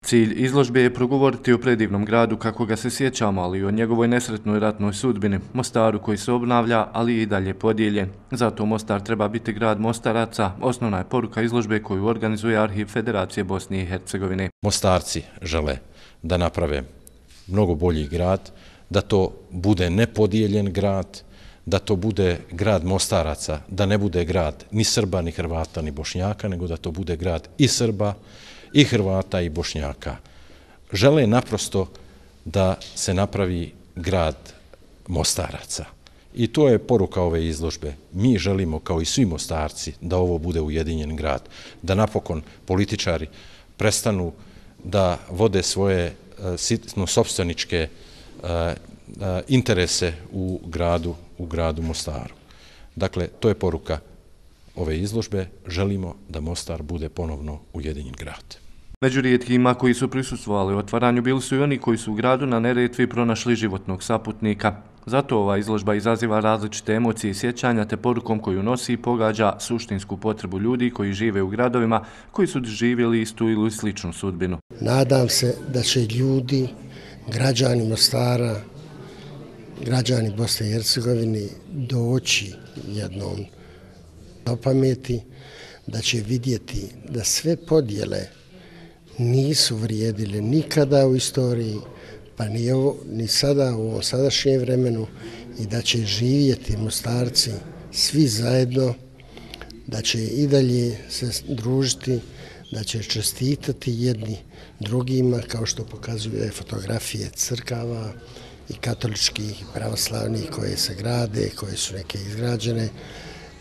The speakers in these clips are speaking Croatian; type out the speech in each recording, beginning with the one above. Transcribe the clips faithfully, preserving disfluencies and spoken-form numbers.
Cilj izložbe je progovoriti o predivnom gradu kako ga se sjećamo, ali i o njegovoj nesretnoj ratnoj sudbini, Mostaru koji se obnavlja, ali i dalje podijeljen. Zato Mostar treba biti grad Mostaraca, osnovna je poruka izložbe koju organizuje Arhiv Federacije Bosne i Hercegovine. Mostarci žele da naprave mnogo bolji grad, da to bude nepodijeljen grad, da to bude grad Mostaraca, da ne bude grad ni Srba, ni Hrvata, ni Bošnjaka, nego da to bude grad i Srba, i Hrvata, i Bošnjaka. Žele naprosto da se napravi grad Mostaraca. I to je poruka ove izložbe. Mi želimo, kao i svi Mostarci, da ovo bude ujedinjen grad, da napokon političari prestanu da vode svoje sopstveničke interese u gradu, u gradu Mostaru. Dakle, to je poruka ove izložbe. Želimo da Mostar bude ponovno ujedinjen grad. Među rijetkima koji su prisustvovali otvaranju bili su i oni koji su u gradu na Neretvi pronašli životnog saputnika. Zato ova izložba izaziva različite emocije i sjećanja, te porukom koju nosi i pogađa suštinsku potrebu ljudi koji žive u gradovima koji su doživjeli istu ili sličnu sudbinu. Nadam se da će ljudi, građani Mostara, građani Bosne i Hercegovine doći jednom do pameti, da će vidjeti da sve podjele nisu vrijedile nikada u istoriji, pa ni, ovo, ni sada u ovom sadašnjem vremenu, i da će živjeti Mostarci svi zajedno, da će i dalje se družiti, da će čestitati jedni drugima, kao što pokazuju fotografije crkava i katoličkih i pravoslavnih koje se grade, koje su neke izgrađene,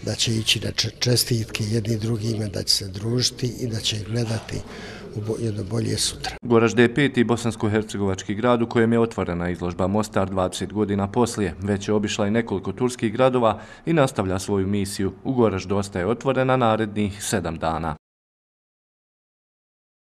da će ići na čestitke jedni drugima, da će se družiti i da će gledati u jedno bolje sutra. Goražde je peti bosansko-hercegovački grad u kojem je otvorena izložba Mostar dvadeset godina poslije. Već je obišla i nekoliko turskih gradova i nastavlja svoju misiju. U Goraždu ostaje otvorena narednih sedam dana.